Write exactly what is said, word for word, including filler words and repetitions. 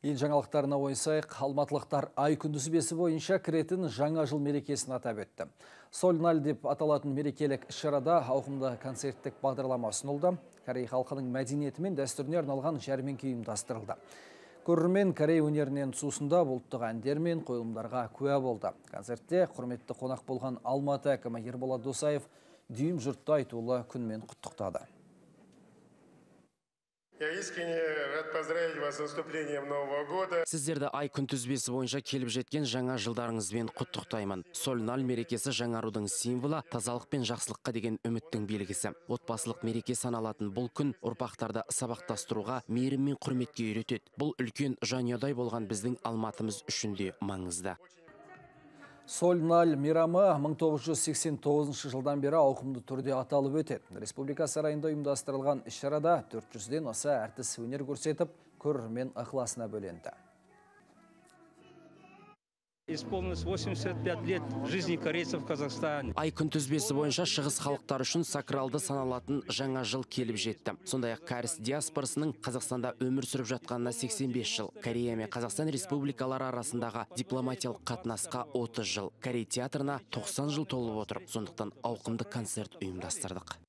Ел жаңалықтарына ойсайық, алматылықтар ай күндізбесі бойынша кіретін жаңа жыл мерекесін атап өтті. Сольналь деп аталатын мерекелік іс-шарада ауқымды концерттік бағдарлама ұсынылды. Корей халқының мәдениеті мен дәстүріне арналған жәрмеңке ұйымдастырылды. Көрермен Корей өнерінен сусында ұлттық әндер мен қойылымдарға куә болды. Концертте құрметті қонақ болған Алматы әкімі Ерболат Досаев дүйім жұртты айтулы күнмен құттықтады. Я искренне рад поздравить вас с наступлением Нового года. Сіздерді ай күнтізбесі бойынша келіп жеткен жаңа жылдарыңызбен құттықтаймын. Сольналь мерекесі жаңарудың символы, тазалық пен жақсылыққа деген үміттің белгісі. Отбасылық мереке саналатын бұл күн ұрпақтарды сабақтастыруға, мейірім мен құрметке үйретеді. Бұл үлкен жанұядай болған біздің Алматымыз үшін де маңызды. Сольналь мейрамы мың тоғыз жүз сексен тоғызыншы жылдан бері ауқымды түрде аталып өтеді. Республика сарайында ұйымдастырылған іс-шарада төрт жүзден аса әртіс өнер көрсетіп, көрермен ықыласына бөленді. Исполнилось восемьдесят пять лет жизни корейцев в Казахстане. Ай күнтізбесі бойынша шығыс халықтар үшін сакралды саналатын жаңа жыл келіп жетті. Сондай-ақ кәріс диаспорасының Қазақстанда өмір сүріп жатқанына сексен бес жыл. Корея мен Қазақстан республикалары арасындағы дипломатиялық қатынасқа отыз жыл. Корей театрына тоқсан жыл толып отыр. Сондықтан ауқымды концерт ұйымдастырдық.